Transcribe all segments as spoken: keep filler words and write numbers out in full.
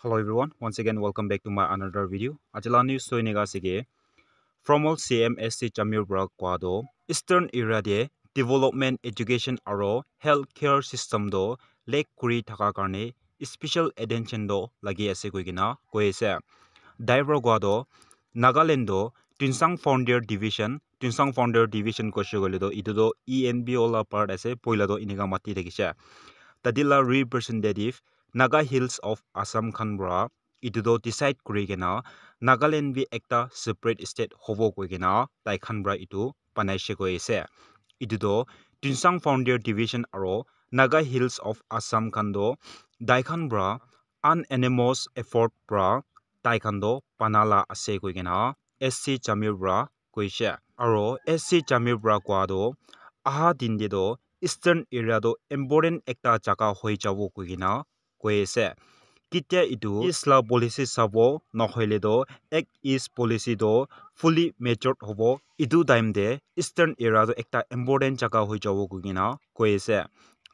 Hello everyone, once again welcome back to my another video. Aji la news toh enika ase ke, former C M S C Jamir para koa toh Eastern area te development, education aro healthcare system toh lack kuri thaka karne special attention toh lagi ase koi kena koi ase. Tai para koa toh Nagaland toh Tuensang Frontier Division, Tuensang Frontier Division koishe koile toh etu toh E N P O la part ase, poila toh enika mati thakishe. Tate la representative Naga Hills of Assam khan para etu toh decide kuri kena Nagaland bi ekta separate state hobo koi kena tai khan para etu banaishe koi ase. Etu toh Tuensang Frontier Division aro Naga Hills of Assam khan toh tai khan para unanimous effort para tai khan toh bana la ase koi kena S C Jamir para koishe. Aro S C Jamir para koa toh aha din te toh Eastern area toh important ekta jaga hoi jabo koi kena koi ase. Ketia etu East la policy sabo, nohoile toh Act East policy toh fully matured hobo, etu time te Eastern area toh ekta important jaga hoi jabo koi kena koi ase.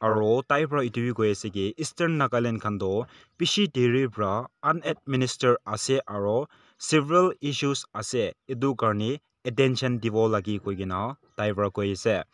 Aro tai para etu bi koi ase ki Eastern Nagaland khan toh bishi deri para unadministered ase aro several issues ase, etu karne attention dibo lagi koi kena tai para koi ase.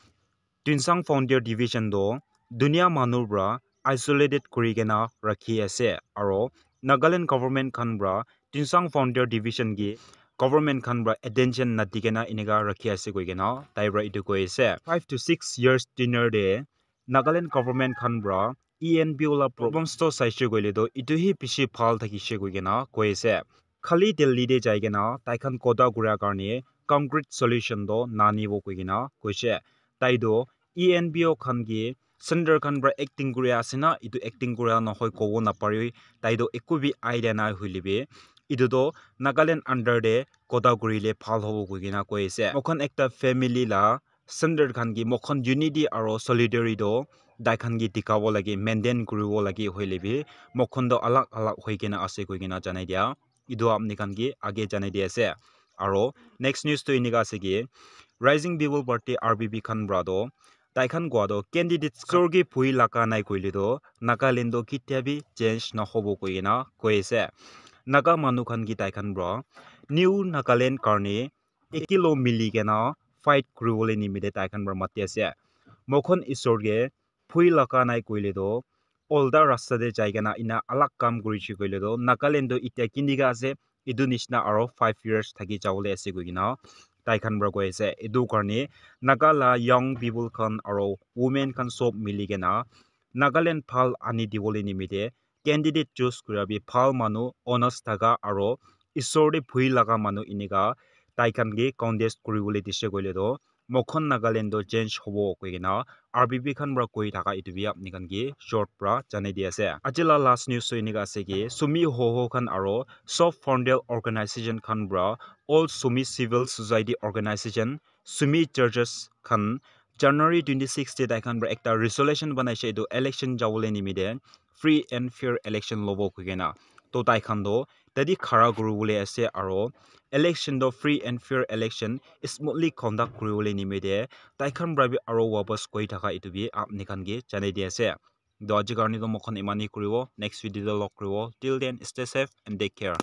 Tuensang Frontier Division toh dunia manu para isolated kuri kena rakhi ase aro Nagaland government khan para Tuensang Frontier Division ki government khan para attention nadi kena enika rakhi ase koi kena tai para etu koi ase. Five to six years tenure te Nagaland government khan para E N P O la problems toh saishe koile toh etu hi bishi bhal thakishe koi kena koi ase. Khali Delhi te jai kena tai khan kotha kuria karne concrete solution toh nanibo koi kena koishe. Tai toh E N P O khan ki center khan para acting kuri ase na, etu acting kura nohoi kobo napare, tai toh eku bi idea nai hoile bi, etu toh Nagaland under te kotha kurile bhal hobo koi kena koi ase. Moikhan ekta family la center khan ki moikhan unity aro solidarity toh tai khan ki dikhabo lage, maintain kuribo lage hoile bi, moikhan toh alag alag hoi kena ase koi kena janai dia. Etu apni khan ki age janai di ase. Aro next news toh enika ase ki, Rising People Party R P P khan para toh tai khan koa toh candidate isor ke bhui laga nai koile toh Nagaland toh ketia bi change nahobo koi kena koi ase. Naga manu khan ki tai khan para New Nagaland karne ekilo mili kena fight kuribole nimite tai khan para mati ase. Moikhan isor ke bhui laga nai koile toh olta rasta te jai kena ena alag kam kurishe koile toh Nagaland toh etia kinika ase, etu nishina aro five years thaki jabole ase koi kena tai khan para koi ase. Etu karne Naga la young people khan aro women khan sob mili kena Nagaland bhal ani dibole nimite candidate choose kura bi bhal manu, honest thaka aro isor te bhui laga manu enika tai khan ke contest kuribole dishe koile toh moikhan Nagaland toh change hobo koi kena R P P khan para koi thaka etu bi apni khan ke short para janai di ase. Aji la last news toh enika ase ki Sumi Hoho khan aro Soft Frontier Organization khan para All Sumi Civil Society Organization, Sumi Churches khan January twenty six te tai khan para ekta resolution banaishe, etu election jabole nimite free and fair election lobo koi kena. Toh tai khan toh tate khara kuribole ase aro election toh free and fair election smoothly conduct kuribole nimite tai khan para bi aro wapas koi thaka etu bi apni khan ke janai di ase. Toh aji karne toh moikhan eman hi kuribo, next video te log kuribo. Till then, stay safe and take care.